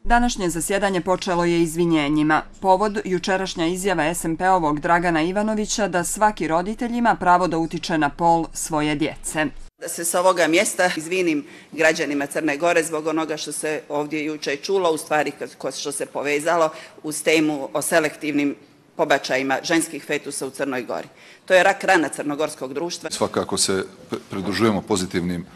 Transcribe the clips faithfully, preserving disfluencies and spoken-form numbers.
Današnje zasjedanje počelo je izvinjenjima. Povod jučerašnja izjava es em pe-ovog Dragana Ivanovića da svaki roditelj ima pravo da utiče na pol svoje djece. Da se s ovoga mjesta izvinim građanima Crne Gore zbog onoga što se ovdje juče čulo, u stvari što se povezalo uz temu o selektivnim pobačajima ženskih fetusa u Crnoj Gori. To je rak rana crnogorskog društva. Svakako se pridružujemo pozitivnim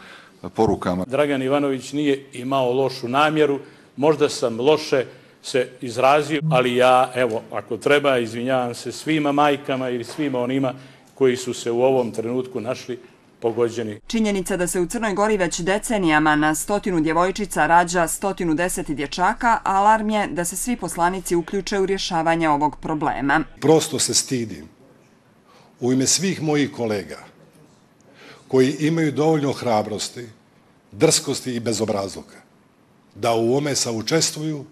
porukama. Dragan Ivanović nije imao lošu namjeru, možda sam loše se izrazio, ali ja, evo, ako treba, izvinjavam se svima majkama ili svima onima koji su se u ovom trenutku našli pogođeni. Činjenica da se u Crnoj Gori već decenijama na stotinu djevojčica rađa stotinu deset dječaka, alarm je da se svi poslanici uključe u rješavanje ovog problema. Prosto se stidim u ime svih mojih kolega koji imaju dovoljno hrabrosti, drskosti i bezobrazluka da u ovome saučestvuju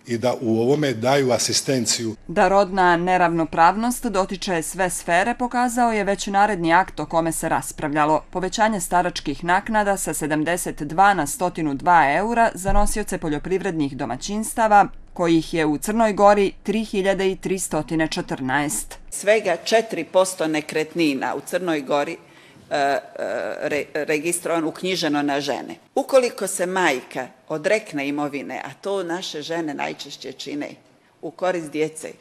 i da u ovome daju asistenciju. Da rodna neravnopravnost dotiče sve sfere pokazao je već naredni akt o kome se raspravljalo. Povećanje staračkih naknada sa sedamdeset dva na sto dva eura za nosioce poljoprivrednih domaćinstava, kojih je u Crnoj Gori tri hiljade tristo četrnaest. Svega četiri posto nekretnina u Crnoj Gori registrovan, uknjiženo na žene. Ukoliko se majka odrekne imovine, a to naše žene najčešće čine, u korist djece,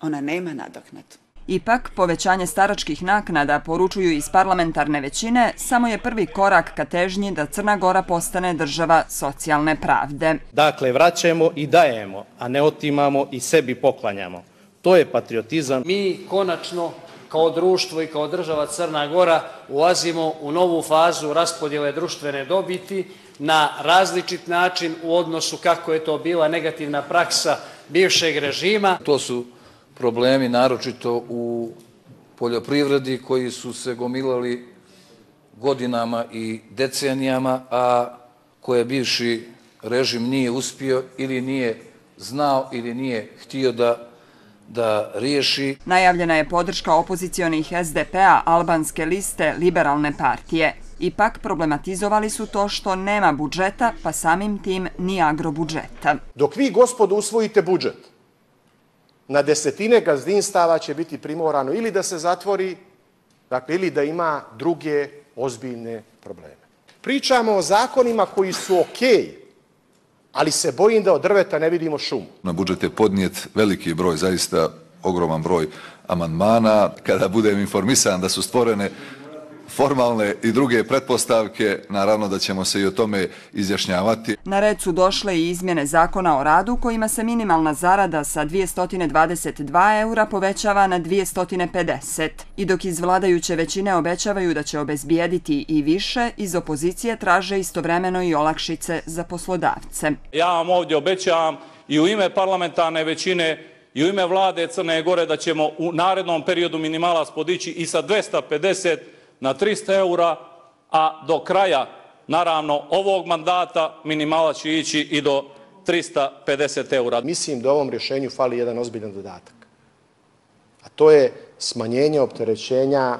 ona nema nadoknadu. Ipak, povećanje staračkih naknada, poručuju iz parlamentarne većine, samo je prvi korak ka težnji da Crna Gora postane država socijalne pravde. Dakle, vraćamo i dajemo, a ne otimamo i sebi poklanjamo. To je patriotizam. Mi konačno kao društvo i kao država Crna Gora ulazimo u novu fazu raspodjele društvene dobiti na različit način u odnosu kako je to bila negativna praksa bivšeg režima. To su problemi naročito u poljoprivredi koji su se gomilali godinama i decenijama, a koje bivši režim nije uspio ili nije znao ili nije htio da da riješi. Najavljena je podrška opozicionih es de pe-a, albanske liste, liberalne partije. Ipak problematizovali su to što nema budžeta, pa samim tim ni agrobudžeta. Dok vi, gospodo, usvojite budžet, na desetine gazdinstava će biti primorano ili da se zatvori, dakle, ili da ima druge ozbiljne probleme. Pričamo o zakonima koji su okej, ali se bojim da od drveta ne vidimo šumu. Na budžet je podnijet veliki broj, zaista ogroman broj amandmana. Kada budem informisan da su stvorene formalne i druge pretpostavke, naravno da ćemo se i o tome izjašnjavati. Na red su došle i izmjene zakona o radu kojima se minimalna zarada sa dvjesto dvadeset dva eura povećava na dvjesto pedeset. I dok iz vladajuće većine obećavaju da će obezbijediti i više, iz opozicije traže istovremeno i olakšice za poslodavce. Ja vam ovdje obećavam i u ime parlamentarne većine i u ime vlade Crne Gore da ćemo u narednom periodu minimalac podići i sa dvjesto pedeset na trista eura, a do kraja, naravno, ovog mandata minimalac će ići i do trista pedeset eura. Mislim da ovom rješenju fali jedan ozbiljan dodatak, a to je smanjenje opterećenja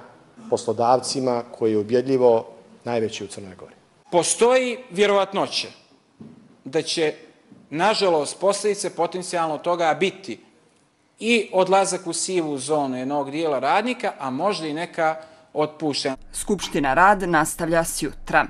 poslodavcima koji je ubjedljivo najveći u Crnoj Gori. Postoji vjerovatnoća da će, nažalost, posljedice potencijalno toga biti i odlazak u sivu zonu jednog dijela radnika, a možda i neka otpuštena. Skupština rad nastavlja sjutra.